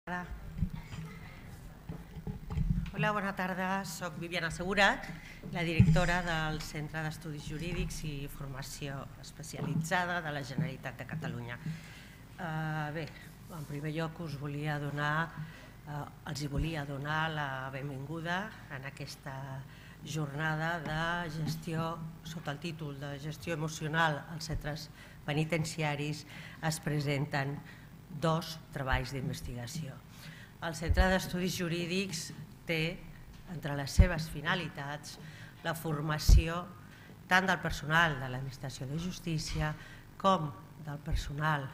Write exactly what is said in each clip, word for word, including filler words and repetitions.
Hola, bona tarda. Soc Viviana Segura, la directora del Centre d'Estudis Jurídics i Formació Especialitzada de la Generalitat de Catalunya. Bé, en primer lloc us volia donar, els hi volia donar la benvinguda en aquesta jornada de gestió, sota el títol de gestió emocional als centres penitenciaris. Es presenten dos treballs d'investigació. El Centre d'Estudis Jurídics té entre les seves finalitats la formació tant del personal de l'Administració de Justícia com del personal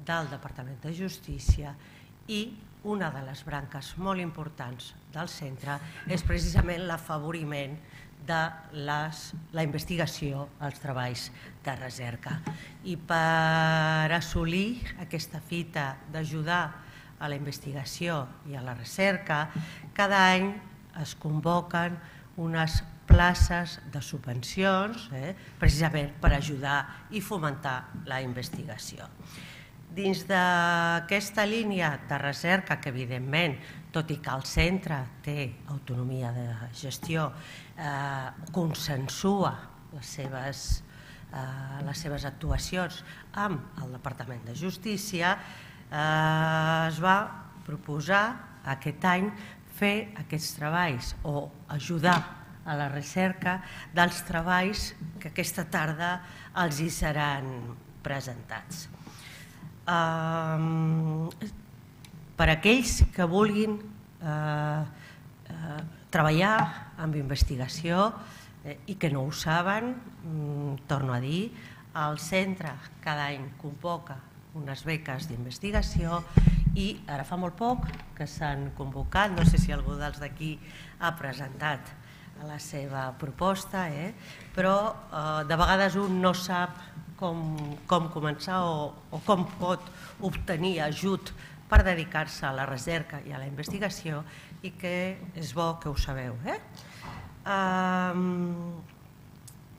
del Departament de Justícia, i una de les branques molt importants del centre és precisament l'afavoriment de la investigació als treballs de recerca. I per assolir aquesta fita d'ajudar a la investigació i a la recerca, cada any es convoquen unes places de subvencions precisament per ajudar i fomentar la investigació. Dins d'aquesta línia de recerca, que evidentment, tot i que el centre té autonomia de gestió, consensua les seves actuacions amb el Departament de Justícia, es va proposar aquest any fer aquests treballs o ajudar a la recerca dels treballs que aquesta tarda els hi seran presentats. Per aquells que vulguin treballar amb investigació i que no ho saben, torno a dir, el centre cada any convoca unes beques d'investigació i ara fa molt poc que s'han convocat, no sé si algú dels d'aquí ha presentat la seva proposta, però de vegades un no sap com començar o com pot obtenir ajut per dedicar-se a la recerca i a la investigació, i que és bo que ho sabeu.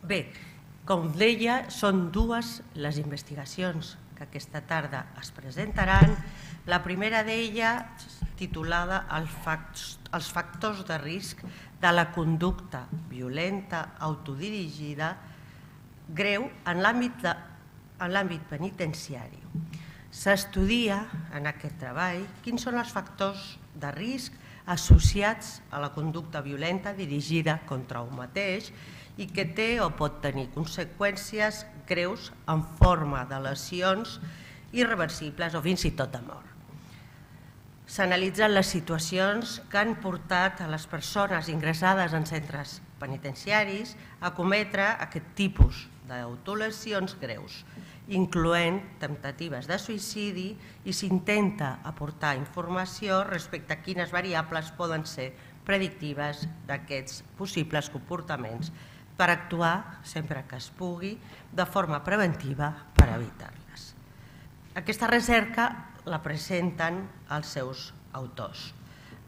Bé, com deia, són dues les investigacions que aquesta tarda es presentaran. La primera d'elles, titulada Els factors de risc de la conducta violenta autodirigida greu en l'àmbit penitenciari. S'estudia en aquest treball quins són els factors de risc associats a la conducta violenta dirigida contra un mateix i que té o pot tenir conseqüències greus en forma de lesions irreversibles o fins i tot de mort. S'analitzen les situacions que han portat a les persones ingressades en centres penitenciaris a cometre aquest tipus d'autolesions greus, incloent temptatives de suïcidi, i s'intenta aportar informació respecte a quines variables poden ser predictives d'aquests possibles comportaments per actuar, sempre que es pugui, de forma preventiva per evitar-les. Aquesta recerca la presenten els seus autors.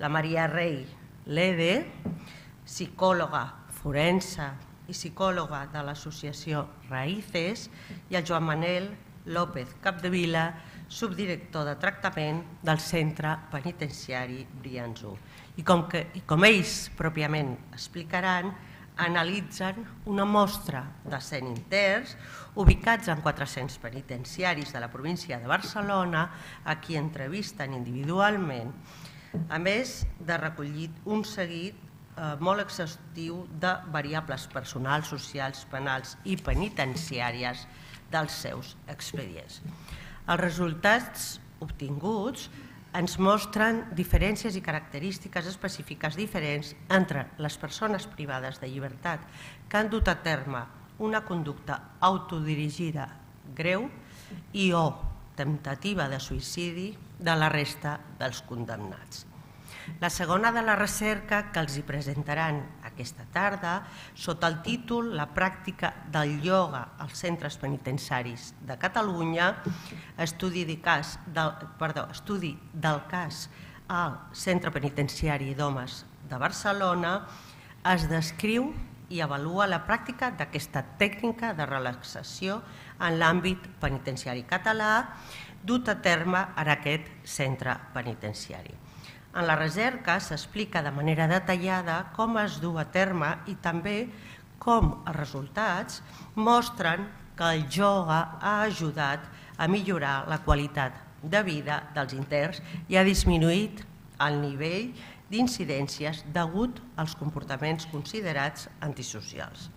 La Maria Rey Lede, psicòloga forense i psicòloga de l'associació Raíces, i el Joan Manel López Capdevila, subdirector de tractament del centre penitenciari Brians u. I com ells pròpiament explicaran, analitzen una mostra de cent interns ubicats en quatre-cents penitenciaris de la província de Barcelona, a qui entrevisten individualment, a més de recollir un seguit molt exhaustiu de variables personals, socials, penals i penitenciàries dels seus expedients. Els resultats obtinguts ens mostren diferències i característiques específiques diferents entre les persones privades de llibertat que han dut a terme una conducta autodirigida greu i o temptativa de suïcidi de la resta dels condemnats. La segona de la recerca que els hi presentaran aquesta tarda, sota el títol La pràctica del ioga als centres penitenciaris de Catalunya, estudi del cas al Centre Penitenciari d'Homes de Barcelona, es descriu i avalua la pràctica d'aquesta tècnica de relaxació en l'àmbit penitenciari català dut a terme en aquest centre penitenciari. En la recerca s'explica de manera detallada com es du a terme i també com els resultats mostren que el ioga ha ajudat a millorar la qualitat de vida dels interns i ha disminuït el nivell d'incidències degut als comportaments considerats antisocials.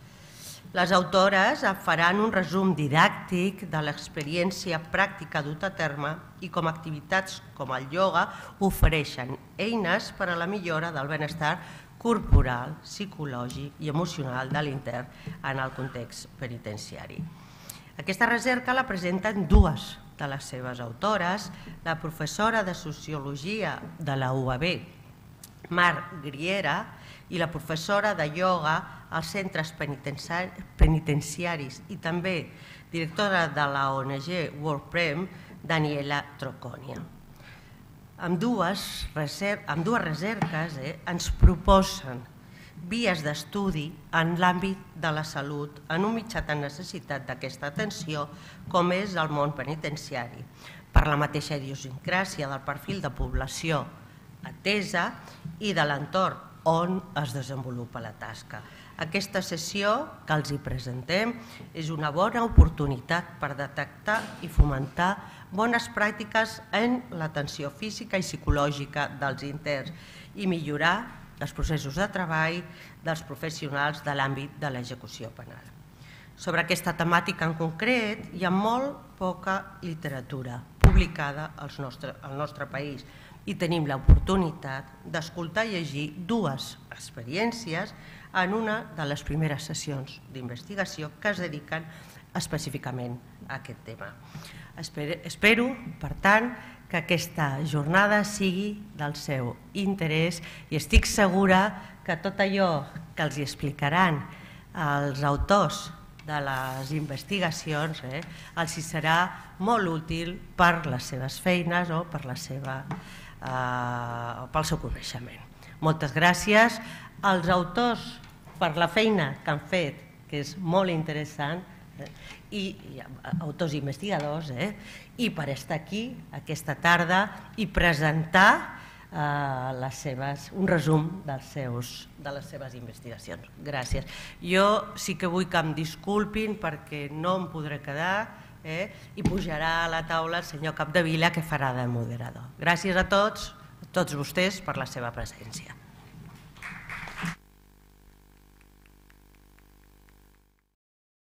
Les autores faran un resum didàctic de l'experiència pràctica duta a terme i com activitats com el ioga ofereixen eines per a la millora del benestar corporal, psicològic i emocional de l'intern en el context penitenciari. Aquesta recerca la presenten dues de les seves autores, la professora de Sociologia de la U A B, Mar Griera, i la professora de ioga als centres penitenciaris i també directora de la O N G WorldPrem, Daniela Troconia. Ambdues recerques ens proposen vies d'estudi en l'àmbit de la salut en un mitjà de necessitat d'aquesta atenció com és el món penitenciari, per la mateixa idiosincràsia del perfil de població atesa i de l'entorn on es desenvolupa la tasca. Aquesta sessió que els hi presentem és una bona oportunitat per detectar i fomentar bones pràctiques en l'atenció física i psicològica dels interns i millorar els processos de treball dels professionals de l'àmbit de l'execució penal. Sobre aquesta temàtica en concret hi ha molt poca literatura publicada al nostre país i tenim l'oportunitat d'escoltar i llegir dues experiències en una de les primeres sessions d'investigació que es dediquen específicament a aquest tema. Espero, per tant, que aquesta jornada sigui del seu interès i estic segura que tot allò que els explicaran els autors de les investigacions els serà molt útil per les seves feines o per la seva pel seu coneixement. Moltes gràcies als autors per la feina que han fet, que és molt interessant, i autors i investigadors, i per estar aquí aquesta tarda i presentar un resum de les seves investigacions. Gràcies. Jo sí que vull que em disculpin perquè no em podré quedar i pujarà a la taula el senyor Capdevila, que farà de moderador. Gràcies a tots, a tots vostès, per la seva presència.